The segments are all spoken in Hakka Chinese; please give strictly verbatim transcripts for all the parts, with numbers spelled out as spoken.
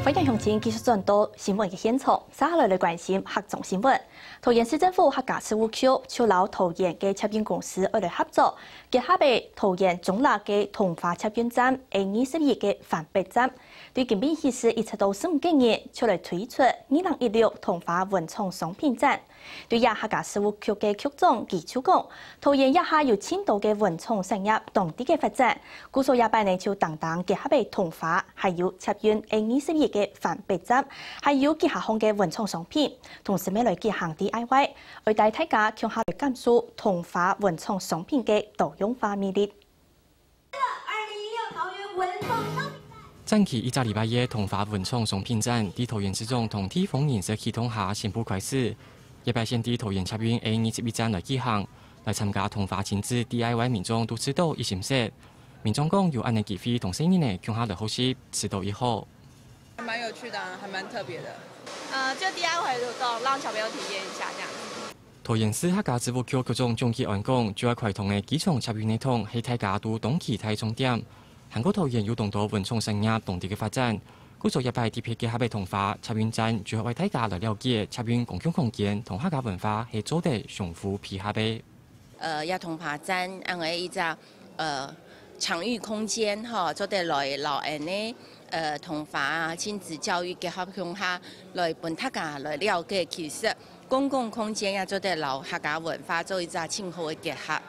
歡迎鄉親繼續轉到新聞个現場，接下來來關心客庄新聞。桃園市政府客家事務局就摎桃園个捷運公司愛來合作，結合个桃園中壢个桐花捷運站A二十一个環北站，對今晡日起一直到十五日，就來推出二零一六桐花文創商品展。 對這客家事務局个局長佢就講，桃園這下有盡多个文創產業當地个發展，故所這擺呢就單單結合个桐花，還有捷運A二十一个環北站，還有幾下項个文創商品，同時乜來舉行D I Y，愛帶大家共下來感受桐花文創商品个多樣化魅力。 展期一隻禮拜个桐花文創商品展，在桃園市長同地方人士啟動下宣布開始。這擺先在桃園捷運A二十一站來舉行，來參加桐花親子D I Y民眾都試著異心適。民眾講有恁呢機會同細人仔共下來學習，試著異好。還蠻有趣的啊，還蠻特別的。呃，就D I Y活動，讓小朋友體驗一下這樣子。 桃園市客家事務局局長鍾吉安講，主要開通个機場捷運系統係大家都當期待重點。還過桃園有當多文創產業當地个發展，故所這擺特別結合个桐花捷運站，主要為大家來了解捷運公共空間同客家文化係做得相互配合个。呃，這桐花站恁个一隻呃場域空間吼，做得來摎恁呢呃桐花啊親子教育結合共下，來分大家來了解，其實 公共空間也做得摎客家文化做一隻盡好个結合。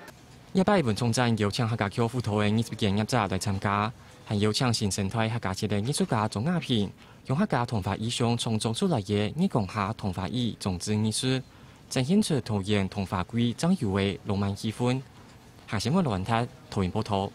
這擺文創展邀請客家局輔導个藝術个業者來參加，還邀請新生代客家節个藝術家鍾亞萍，用客家桐花意象創作出來个日光下桐花雨裝置藝術，展現出桃園桐花季正有个浪漫氣氛。客新聞羅文達，桃園報導。